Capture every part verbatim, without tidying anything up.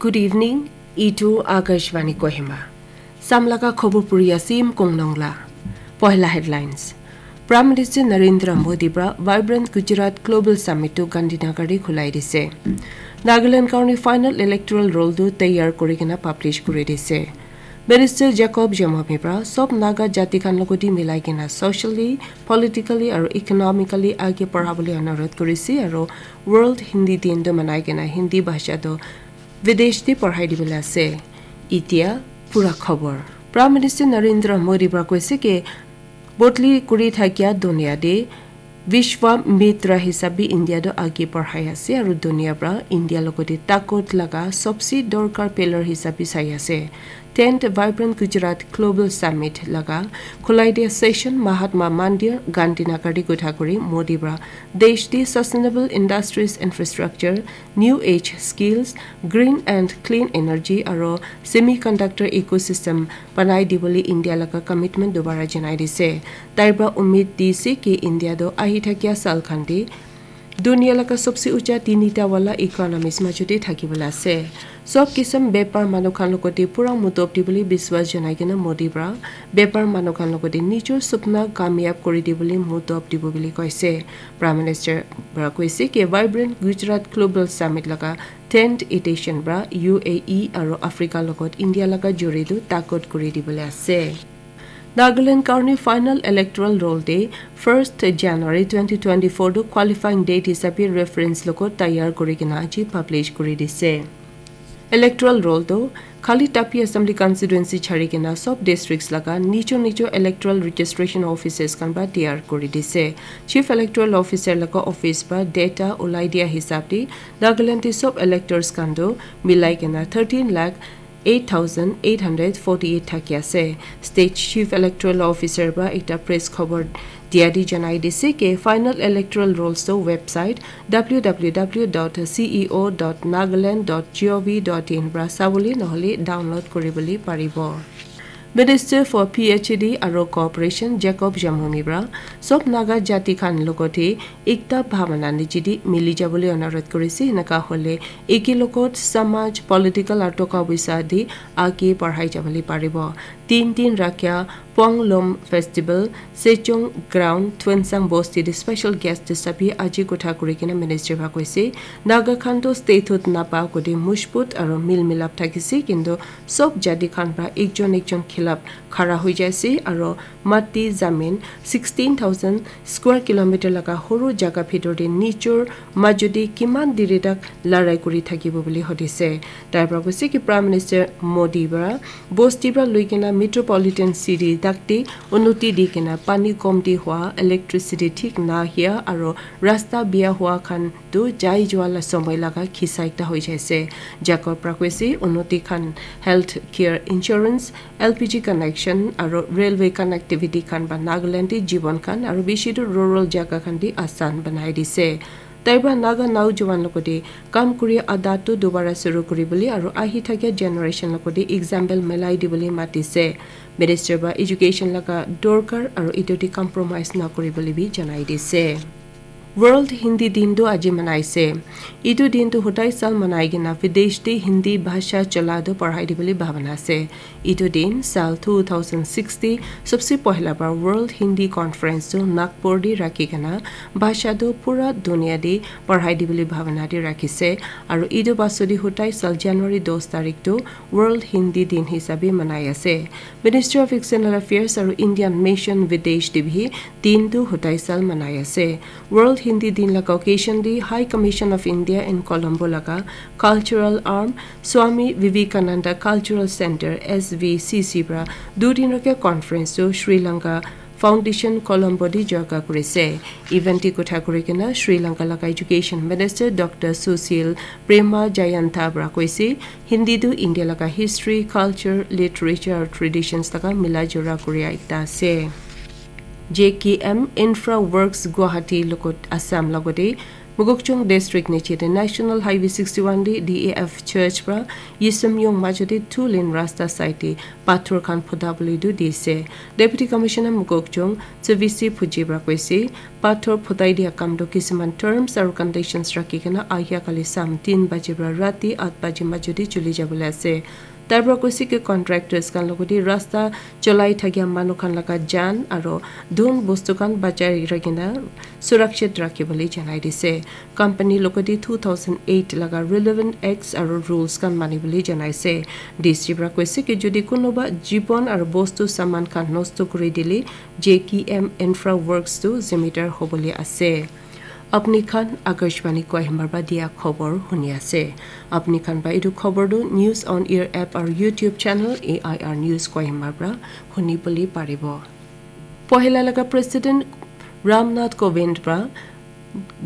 Good evening, itu Akashvani Kohima. Samlaga khobor puri asim kongnong la. Pohla headlines. Prime Minister Narendra Modi pra Vibrant Gujarat Global Summit tu Gandhinagar te khulai dise. Nagaland karne final electoral roll tu taiyar kuri kena publish kuri dise. Minister Jacob Jamomi pra sob Naga jati khan logoti milai kena socially, politically aru economically age parhabole anurod kurise aru World Hindi Din tu manai kena Hindi bhasha tu videsh te parhai dibole ase. Itia pura khobor. Prime Minister Narendra Modi pra koise ke bodli kuri thakia dunia te Vishwa Mitra hisabe India tu age parhai ase aru dunia pra India logote takot laga sobse dorkar pillar hisabe sai ase. Tenth Vibrant Gujarat Global Summit laga khulai dia session Mahatma Mandir Gandhinagar te kotha kuri Modi pra desh te sustainable industries infrastructure, new age skills, green and clean energy aru semiconductor ecosystem banai dibole India laga commitment dobara janai dise. Tai pra umid dise ki India tu ahi thakia sal khan te dunia laga sobse ucha tinita wala economies majote thakibole ase. Sob kisam bepar manu khan logote pura mudob dibole biswas janai kena Modi pra bepar manu khan logote nijor supna kamyab kuri dibole mudob dibo bole koise. Prime Minister pra koise ki Vibrant Gujarat Global Summit laga tenth edition pra U A E aru Africa logot India laga juri tu takot kuri dibole ase. Nagaland karne final electoral roll te first January twenty twenty-four tu qualifying date hisabe reference logot taiyar kuri kena aji publish kuri dise. Electoral roll tu khali Tapi Assembly Constituency chari kena sob districts laga nijo nijo electoral registration offices khan pra taiyar kuri dise. Chief Electoral Officer laga office pra data ulai dia hisab te Nagaland te sob electors khan tu milai kena thirteen lakh eight thousand eight hundred forty-eight thaki ase. State Chief Electoral Officer pra ekta press khobor dia di janai dise ke final electoral rolls to website W W W dot C E O dot nagaland dot G O V dot in pra sabole nohole download kuribole paribo. Minister for P H D aru Cooperation Jacob Jamomi pra sob Naga jati khan logote ekta bhabana nijidi mili jabole anurod kurise, enaka hole eke logot samaj, political aru toka poisa di age parhai jabole paribo. Tin din rakya Ponglom Festival, Sechong Ground, Twensang Bosti di special guest hisabe aji kotha kuri kena minister pra koise, Naga khan to statehood napa kode mushput aru mil milap thakise, kintu sob jati khan pra ekjon ekjon khilap khara hoi jaise aru mati zamin sixteen thousand square kilometer laga horu jaga bhitor te nijor majodi kiman diri tak larai kuri thakibo bole hudise. Tai pra koise ki Prime Minister Modi pra bosti pra lui kena metropolitan city tak te unnoti di kena pani komti hua, electricity thik na hia aru rasta bia hua khan tu jai jua la somoi laga khisa ekta hoi jaise. Jacob pra koise unnoti khan health care insurance, L P G connection aru railway connectivity khan pra Nagaland te jibon khan aru bishi tu rural jaga khan te asan banai dise. Tai pra Naga naujowan logote kam kuri adat tu dobara shuru kuribole aru ahi thakia generation logote example milai dibole matise. Minister pra education laga dorkar aru etu te compromise nakuribole bi janai dise. World Hindi Din tu aji manaise. Etu din tu hodai sal manai kena videsh te Hindi bhasha chola tu parhai dibole bhabana ase. Etu din sal two thousand six te sobse pohla bar World Hindi Conference tu Nagpur te rakhi kena bhasha tu pura dunia te parhai dibole bhabana te rakhise. Aru etu baso te hodai sal January dos tarik tu World Hindi Din hisabe manai ase. Ministry of External Affairs aru Indian Mission videsh te bi din tu hodai sal manai ase. World Hindi Din laga occasion te High Commission of India in Colombo laga cultural arm Swami Vivekananda Cultural Center, S V C C, pra du din rakha conference tu Sri Lanka Foundation Colombo te jaga kurise. Event te kotha kuri kena Sri Lanka laga Education Minister Doctor Susil Prema Jayantha pra koise, Hindi tu India laga history, culture, literature, traditions laga mila jora kuria ekta ase. J K M Infra Works Guwahati logot Assam logote Mokokchung District niche te National Highway sixty-one te D A F Church pra Yisum Yong majo te two lane rasta side te pathor khan phuta bole tu dise. Deputy Commissioner Mokokchung Tsivisi Phuji pra koise, pathor phutai dia kam tu kisuman terms aru conditions rakhi kena ahia kali sam tin baji pra rati at baji majo te chuli jabole ase. Tai pra koise ki contractors khan logoti rasta cholai thakia manu khan laga jan aro dhon bostu khan bachai rakhina surakshit rakhibole janai dise. Company logoti two thousand eight laga relevant acts aro rules khan manibole janaise. D C pra koise ki jodi kunuba jibon aro bostu saman khan nosto kuri dile J K M Infra Works tu zimidar hobole ase. Apni khan Akashvani Kohima pra dia khobor huni ase. Apni khan pra etu khobor tu News on Air app aru YouTube channel A I R News Kohima pra huni bole paribo. Pohila laga President Ramnath Kovind pra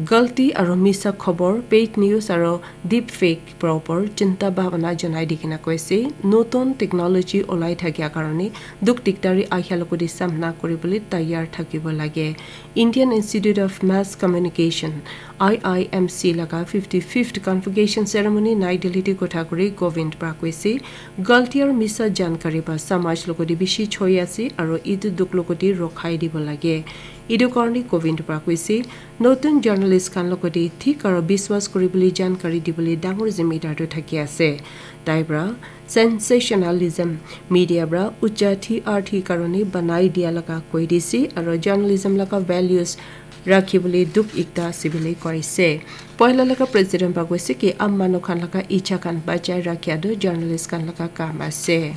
galti aru misa khobor, paid news aru deepfake pra opor chinta bhabana janai di kena koise, notun technology olai thakia karone dukh dikdari ahia logoti samna kuribole tayar thakibo lage. Indian Institute of Mass Communication, I I M C laga fifty-fifth convocation ceremony Nai Delhi te kotha kuri Kovind pra koise, galti aru misa jankari pra samaj logoti bishi choi ase aru etu dukh logoti rokhai dibo lage. Etu karone Kovind pra koise, notun journalist khan logoti thik aru biswas kuribole jankari dibole dangor zimidar tu thaki ase. Tai pra sensationalism media pra ucha T R T karone banai dia laga koi dise aru journalism laga values rakhibole dukh ekta ase bole koise. Pohila laga president pra koise ki aam manu khan laga icha khan bachai rakhia tu journalist khan laga kam ase.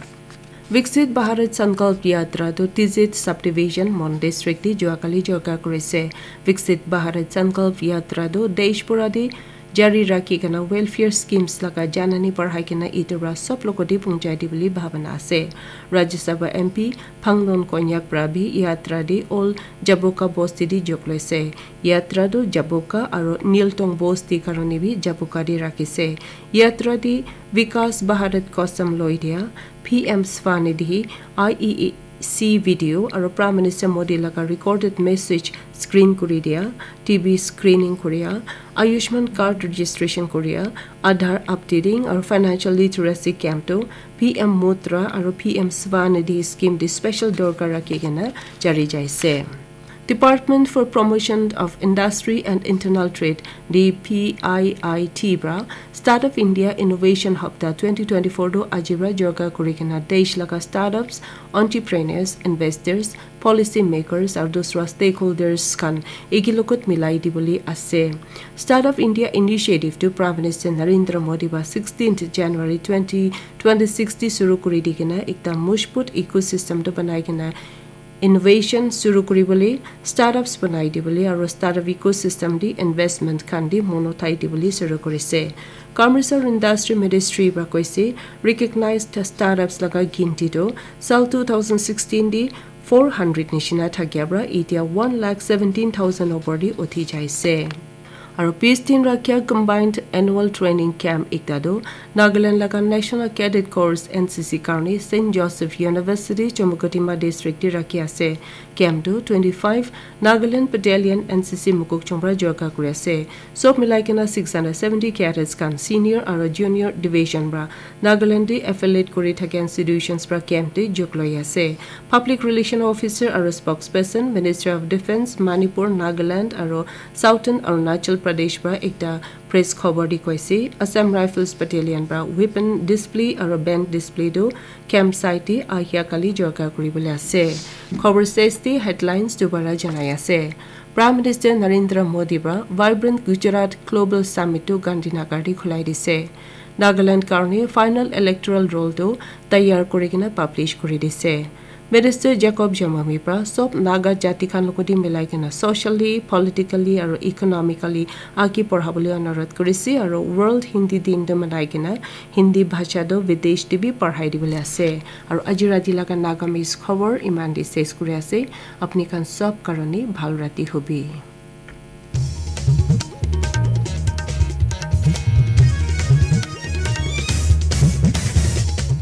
Viksit Bharat Sankalp Yatra tu Tizit Subdivision Mon District te juakali jorka kurise. Viksit Bharat Sankalp Yatra tu desh pura te jari rakhi kena welfare schemes laga janani parhai kena etu pra sob logoti punchai dibole bhabana ase. Rajya Sabha M P Phangnon Konyak pra bi yatra te all Jaboka bosti te jok loise. Yatra tu Jaboka aru Niltong bosti karone bi Jaboka te rakhise. Yatra te Vikas Bharat Kosam loi dia, P M Swanidhi, I E C video aru Prime Minister Modi laga recorded message screen kuri dia, T B screening kuria, Ayushman card registration kuria, Aadhaar updating aru financial literacy camp tu P M Mudra aru P M Swanidhi scheme te special dorkar rakhi kena jari jaise. Department for Promotion of Industry and Internal Trade, D P I I T pra Startup India Innovation Hapta twenty twenty-four tu aji pra jorka kuri kena desh laga startups, entrepreneurs, investors, policy makers aru dusra stakeholders khan eki logot milai dibole ase. Startup India Initiative tu Prime Minister Narendra Modi pra sixteenth January twenty twenty-six te shuru kuri di kena ekta mojbut ecosystem tu banai kena innovation shuru kuribole, startups banai dibole aru startup ecosystem te investment khan te mon uthai dibole shuru kurise. Commerce aru Industry Ministry pra koise, recognized startups laga ginti tu sal two thousand sixteen te four hundred nishina thakia pra etia one lakh seventeen thousand opor te uthi jaise. Aru bis din rakhia combined annual training camp ekta tu Nagaland laga National Cadet Corps N C C karne Saint Joseph University, Chumukedima District te rakhi ase. Camp tu twenty-five Nagaland Battalion N C C Mokokchung pra jorka kuri ase. Sob milai kena six hundred seventy cadets khan senior aru junior division pra Nagaland te affiliate kuri thakia institutions pra camp te jok loi ase. Public Relation Officer aru spokesperson, Ministry of Defence, Manipur, Nagaland aru Southern Arunachal Pradesh pra ekta press khobor te koise, Assam Rifles Battalion pra weapon display aru band display tu camp site te ahia kali jorka kuribole ase. Khobor stage te headlines dubara janai ase. Prime Minister Narendra Modi pra Vibrant Gujarat Global Summit tu Gandhinagar te khulai dise. Nagaland karne final electoral roll tu tayar kuri kena publish kuri dise. Minister Jacob Jamami pra sob Naga jati khan logoti milai kena socially, politically aru economically agi porhabole onurodh kurise aru World Hindi Din tu manai kena Hindi bhasha tu videsh te bi parhai dibole ase. Aru aji rati laga Nagamese khobor iman te ses kuri ase. Apni khan sob karone bhal rati hobi.